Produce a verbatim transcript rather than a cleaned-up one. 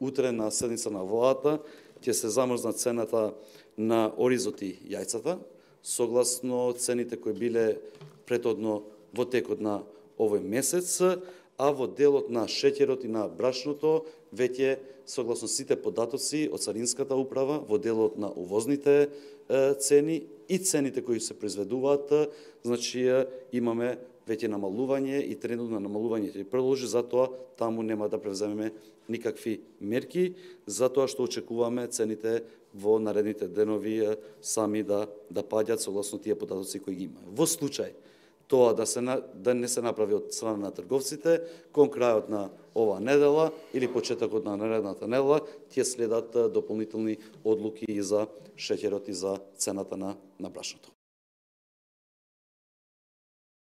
утре на седница на владата ќе се замрзна цената на оризот и јајцата, согласно цените кои биле претhodно во текот на овој месец, а во делот на шеќерот и на брашното, веќе согласно сите податоци од Царинската управа, во делот на увозните е, цени и цените кои се произведуваат, значи имаме веќе намалување и трендот на намалување ќе продолжи, затоа таму нема да превземеме никакви мерки, затоа што очекуваме цените во наредните денови сами да да паѓаат согласно тие податоци кои ги има. Во случај тоа да се да не се направи од страна на трговците, кон крајот на оваа недела или почетокот на наредната недела ќе следат дополнителни одлуки и за шеќерот и за цената на на брашното.